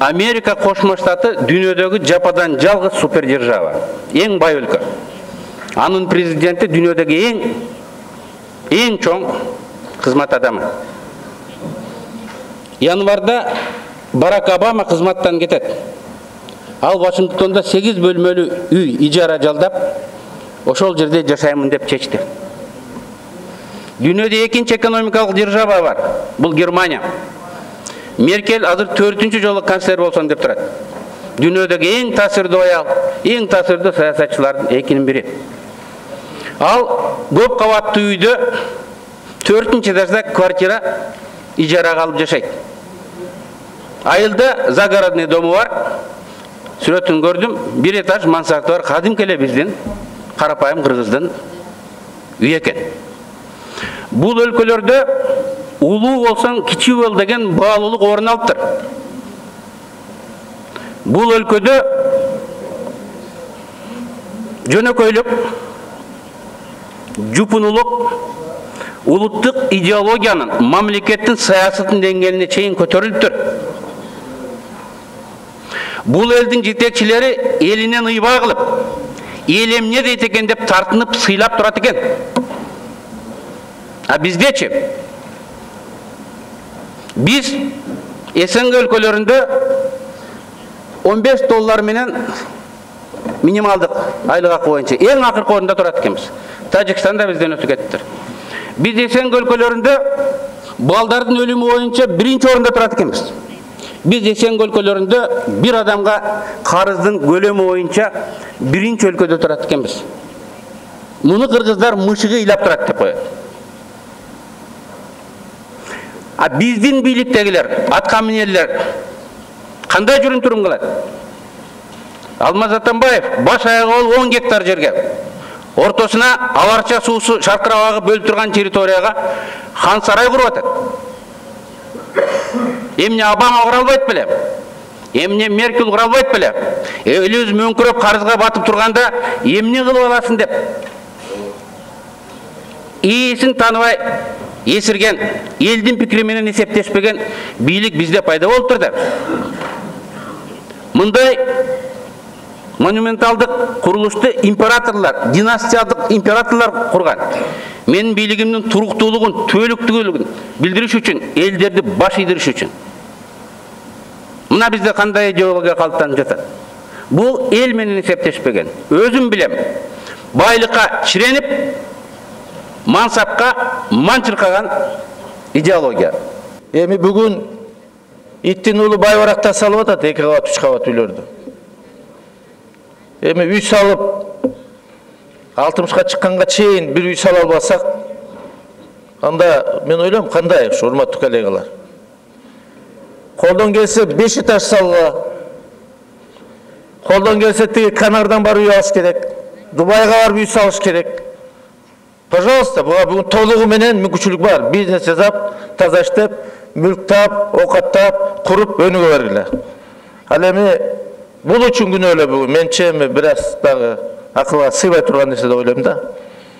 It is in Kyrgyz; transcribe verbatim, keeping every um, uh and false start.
Америка Кошмо Штаты дүйнөдөгү жападан жалгыз супердержава, эң бай өлкө. Анын президенти дүйнөдөгү эң эң чоң кызмат адамы. Январда Барак Обама кызматтан кетет. Ал Вашингтонда сегиз бөлмөлүү үй ижара жалдап, ошол жерде жашаймын деп чечти. Дүйнөдө экинчи экономикалык держава бар. Бул Германия. Меркель азыр төртүнчү жолу канцлер болсом деп турат. Дүйнөдөгү эң таасирдүү аял, эң таасирдүү саясатчылардын экинин бири. Ал көп кабаттуу үйдө төртүнчү этажда квартира ижарага алып жашайт. Айылда загородный дому бар. Сүрөтүн көрдүм. Бир этаж мансарты бар. Кадимки эле биздин карапайым кыргыздын үй экен. Бул өлкөлөрдө улуу болсоң кичүү бол деген баалуулук орун алыптыр. Бул өлкөдө жөнөкөйлүк, жупунулук улуттук идеологиянын, мамлекеттин саясатын деңгээлине чейин көтөрүлүптүр. Бул элдин жетекчилери элинен ыйбаа кылып, эл эмне дейт экен деп тартынып, сыйлап турат экен. А биздечи? Биз СНГ өлкөлөрүндө он беш доллар менен минималдык айлык акы боюнча эң акыркы орунда турат экенбиз. Тажикстанда бизден өтүп кетиптир. Биз СНГ өлкөлөрүндө балдардын өлүмү боюнча биринчи орунда турат экенбиз. Биз СНГ өлкөлөрүндө бир адамга карыздын көлөмү боюнча биринчи өлкөдө турат экенбиз. Муну кыргыздар мышыгы ыйлап турат деп коет. А биздин бийликтегилер, аткаминерлер кандай жүрүм турум кылат? Алмаз Атамбаев баш аягы болуп он гектар жерге, ортосуна аларча суусу шаркырабагы бөлүп турган территорияга хан сарай куруп атат. Эмне Обама кура албайт беле? Эмне Меркель кура албайт беле? Элибиз мөңкүрөп карызга батып турганда эмне кылып аласың деп. Ээсин таныбай эсирген, элдин пикири менен эсептешпеген бийлик бизде пайда болуптур да. Мындай монументалдык курулушту императорлор, династиялык императорлор курган. Менин бийлигимдин туруктуулугун, түбөлүктүүлүгүн билдириш үчүн, элдерди баш ийдириш үчүн. Мына бизде кандай идеология калыптанып жатат? Бул эл менен эсептешпеген. Өзүм билем. Байлыкка чиренип, мансапка манчыркаган идеология. Эми бүгүн иттин уулу бай баракта салып атат эки кабат, үч кабат үйлөрдү. Эми үй салып алтымышка чыкканга чейин бир үй сала албасак, анда мен ойлойм кандай, урматтуу коллегалар. Колдон келсе беш этаж салга, колдон келсе тиги Канардан барып үй алыш керек, Дубайга барып үй салыш керек. Пожалуйста, буга бүгүн толугу менен мүмкүнчүлүк бар. Бизнес жасап, таза иштеп, мүлк таап, оокаттап, куруп өнүгө бергиле. Ал эми бул үчүн күнөө эле бүгүн. Менче эми бир аз дагы акылга сыйбай турган нерсе деп ойлойм да.